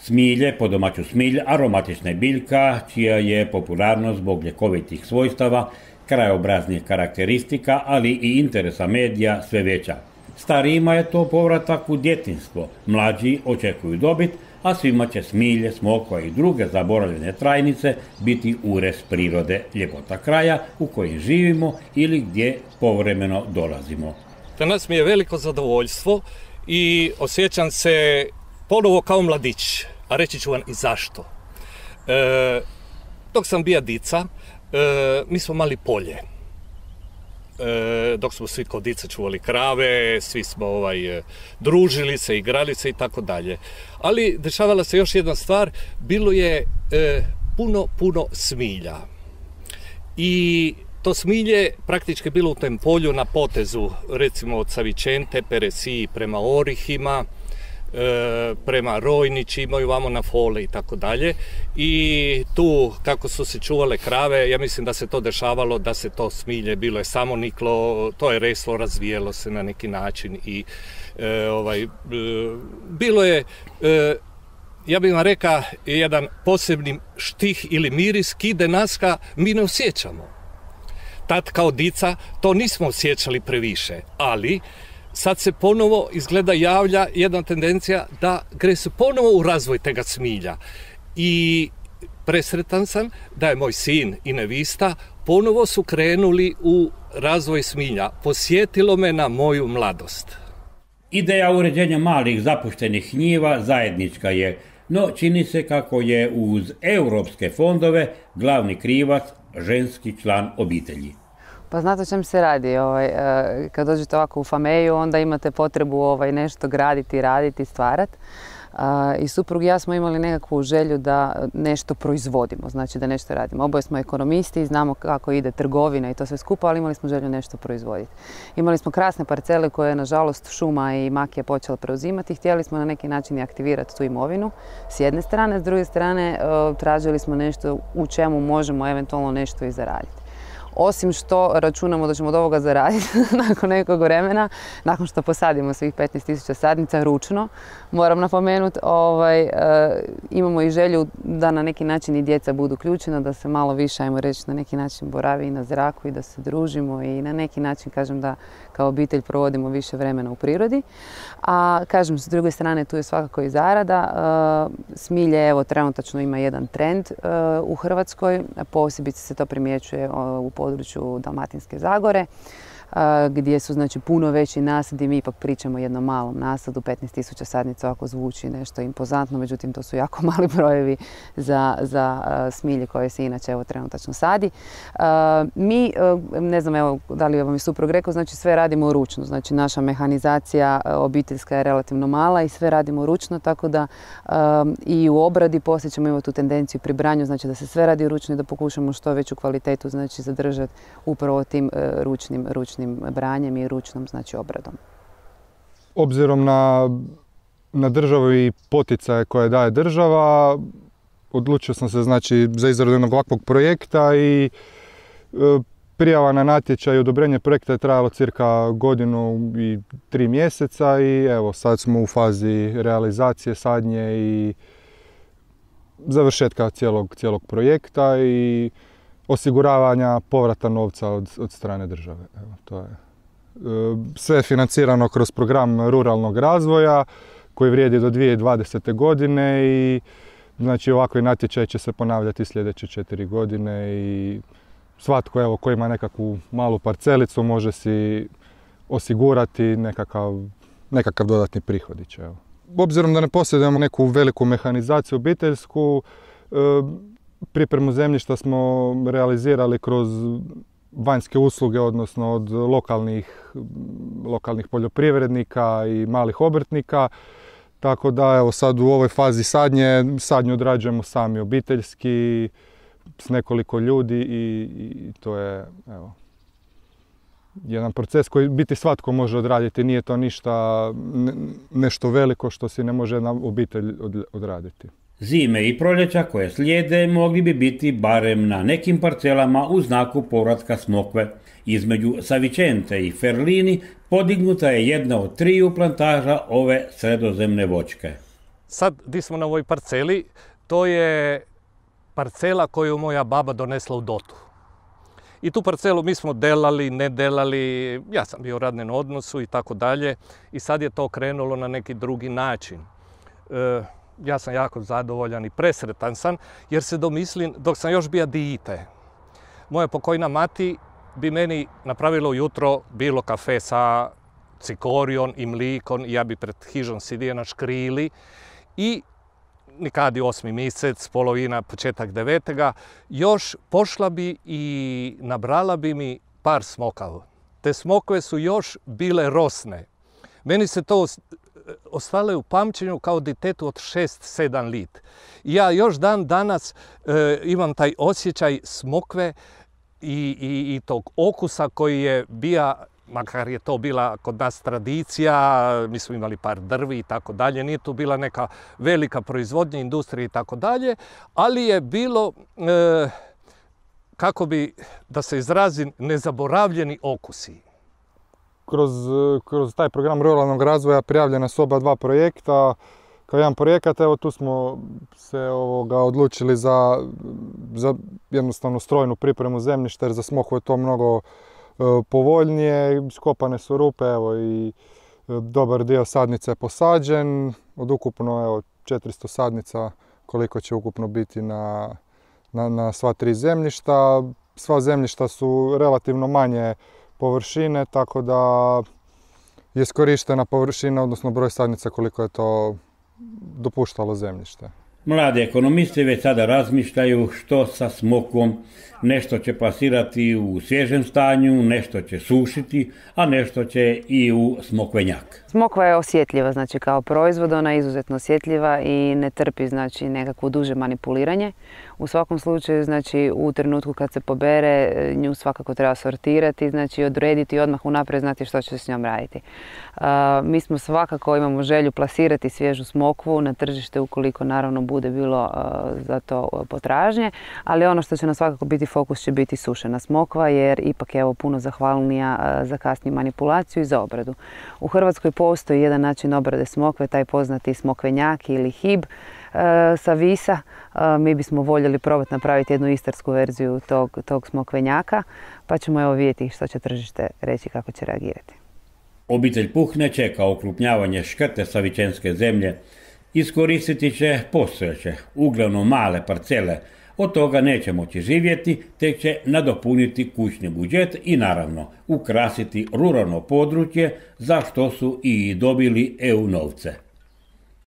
Smilje, po domaću smilj, aromatična je biljka čija je popularnost zbog ljekovitih svojstava, krajobraznih karakteristika, ali i interesa medija sve veća. Starijima je to povratak u djetinjstvo, mlađi očekuju dobit, a svima će smilje, smokva i druge zaboravljene trajnice biti urez prirode, ljepota kraja u kojem živimo ili gdje povremeno dolazimo. Danas mi je veliko zadovoljstvo i osjećam se ponovo kao mladić, a reći ću vam i zašto. Dok sam bio dica, mi smo mali polje. Dok smo svi kod dica čuvali krave, svi smo družili se, igrali se i tako dalje. Ali dešavala se još jedna stvar, bilo je puno smilja. I to smilje praktički bilo u tom polju na potezu, recimo od Savičente, Peresiji prema Orihima, prema Rojnići, vamo na Fole i tako dalje. I tu kako su se čuvale krave, ja mislim da se to dešavalo, da se to smilje, bilo je samo niklo, to je reslo, razvijelo se na neki način i bilo je, ja bih vam rekao, jedan posebni štih ili miris kide naska mi ne osjećamo. Tad kao dica to nismo osjećali previše, ali sad se ponovo izgleda javlja jedna tendencija da gre se ponovo u razvoj tega smilja. I presretan sam da je moj sin i nevista ponovo su krenuli u razvoj smilja. Posjetilo me na moju mladost. Ideja uređenja malih zapuštenih njiva zajednička je, no čini se kako je uz europske fondove glavni krivac ženski član obitelji. Pa znate o čem se radi. Kad dođete ovako u Fameju, onda imate potrebu nešto graditi, raditi, stvarati. I suprug i ja smo imali nekakvu želju da nešto proizvodimo, znači da nešto radimo. Oboje smo ekonomisti i znamo kako ide trgovina i to sve skupa, ali imali smo želju nešto proizvoditi. Imali smo krasne parcele koje je nažalost šuma i makija počela preuzimati i htjeli smo na neki način i aktivirati tu imovinu s jedne strane, s druge strane tražili smo nešto u čemu možemo eventualno nešto i zaraditi. Osim što računamo da ćemo od ovoga zaraditi nakon nekog vremena, nakon što posadimo svih 15.000 sadnica ručno, moram napomenuti, imamo i želju da na neki način i djeca budu uključena, da se malo više, ajmo reći, na neki način boravi i na zraku i da se družimo i na neki način, kažem, da kao obitelj provodimo više vremena u prirodi. A, kažem, s druge strane, tu je svakako i zarada. Smilje, evo, trenutačno ima jedan trend u Hrvatskoj, posebice se to primjećuje u području Dalmatinske Zagore, gdje su znači puno veći nasadi. Mi ipak pričamo o jednom malom nasadu, 15.000 sadnica, ovako zvuči nešto impozantno, međutim to su jako mali brojevi za smilje koje se inače evo trenutačno sadi. Mi, ne znam evo da li vam je suprug rekao, znači sve radimo ručno, znači naša mehanizacija obiteljska je relativno mala i sve radimo ručno, tako da i u obradi poslije ćemo imati tu tendenciju pri branju, znači da se sve radi ručno i da pokušamo što veću kvalitetu znači zadržati upravo tim ručnim branjem i ručnom znači obradom. Obzirom na državu i poticaje koje daje država, odlučio sam se znači za izradu jednog ovakvog projekta i prijava na natječaj i odobrenje projekta je trajalo cirka 1 godinu i 3 mjeseca i evo sad smo u fazi realizacije sadnje i završetka cijelog projekta i osiguravanja povrata novca od strane države. Evo, to je. Sve je financirano kroz program ruralnog razvoja koji vrijedi do 2020. godine i znači ovakvi natječaj će se ponavljati sljedeće 4 godine i svatko evo, koji ima nekakvu malu parcelicu može si osigurati nekakav dodatni prihodić. Evo. Obzirom da ne posjedujemo neku veliku mehanizaciju obiteljsku, pripremu zemljišta smo realizirali kroz vanjske usluge, odnosno od lokalnih poljoprivrednika i malih obrtnika. Tako da evo sad u ovoj fazi sadnju odrađujemo sami obiteljski s nekoliko ljudi i to je evo, jedan proces koji biti svatko može odraditi. Nije to nešto veliko što si ne može jedna obitelj odraditi. Zime i proljeća koje slijede mogli bi biti barem na nekim parcelama u znaku povratka smokve. Između Savičente i Ferlini podignuta je jedna od 3 plantaža ove sredozemne voćke. sad di smo na ovoj parceli, to je parcela koju moja baba donesla u dotu. I tu parcelu mi smo delali, ne delali, ja sam bio u radnom odnosu i tako dalje. I sad je to krenulo na neki drugi način. Ja sam jako zadovoljan i presretan sam, jer se domislim, dok sam još bio dijete, moja pokojna mati bi meni napravila ujutro bilo kafe sa cikorijom i mlikom i ja bi pred hižom sidio na škrili i nikad je 8. mjesec, polovina, početak 9. još pošla bi i nabrala bi mi par smokava. Te smokve su još bile rosne. Meni se to ostalo u pamćenju kao ditetu od 6-7 lit. Ja još dan danas imam taj osjećaj smokve i tog okusa koji je bio, makar je to bila kod nas tradicija, mi smo imali par drvi i tako dalje, nije tu bila neka velika proizvodnja, industrija i tako dalje, ali je bilo, kako bi, da se izrazim, nezaboravljeni okusi. Kroz taj program ruralnog razvoja prijavljena su oba dva projekta. Kao jedan projekat, evo tu smo se odlučili za jednostavno strojnu pripremu zemljišta, jer za smokvu je to mnogo povoljnije. Skopane su rupe, evo i dobar dio sadnica je posađen. Od ukupno 400 sadnica koliko će ukupno biti na sva 3 zemljišta. Sva zemljišta su relativno manje površine, tako da je iskorištena površina, odnosno broj sadnica koliko je to dopuštalo zemljište. Mladi ekonomisti već sada razmišljaju što sa smokvom. Nešto će plasirati u svježem stanju, nešto će sušiti, a nešto će i u smokvenjak. Smokva je osjetljiva, znači kao proizvod, ona je izuzetno osjetljiva i ne trpi znači nekakvo duže manipuliranje. U svakom slučaju, znači u trenutku kad se pobere, nju svakako treba sortirati, znači odrediti i odmah unaprijed znati što će se s njom raditi. Mi smo svakako imamo želju plasirati svježu smokvu na tržište ukoliko naravno bude bilo za to potražnje, ali ono što će nam svakako biti fokus će biti sušena smokva, jer ipak je puno zahvalnija za kasniju manipulaciju i za obradu. U Hrvatskoj postoji jedan način obrade smokve, taj poznati smokvenjak ili hib sa Visa. Mi bismo voljeli probati napraviti jednu istarsku verziju tog smokvenjaka, pa ćemo vidjeti što će tržište reći, kako će reagirati. Obitelj Puhne čeka okrupnjavanje škrte savičenske zemlje. Iskoristiti će postojeće, uglavnom male parcele. Od toga neće moći živjeti, tek će nadopuniti kućni budžet i naravno ukrasiti ruralno područje, za što su i dobili EU novce.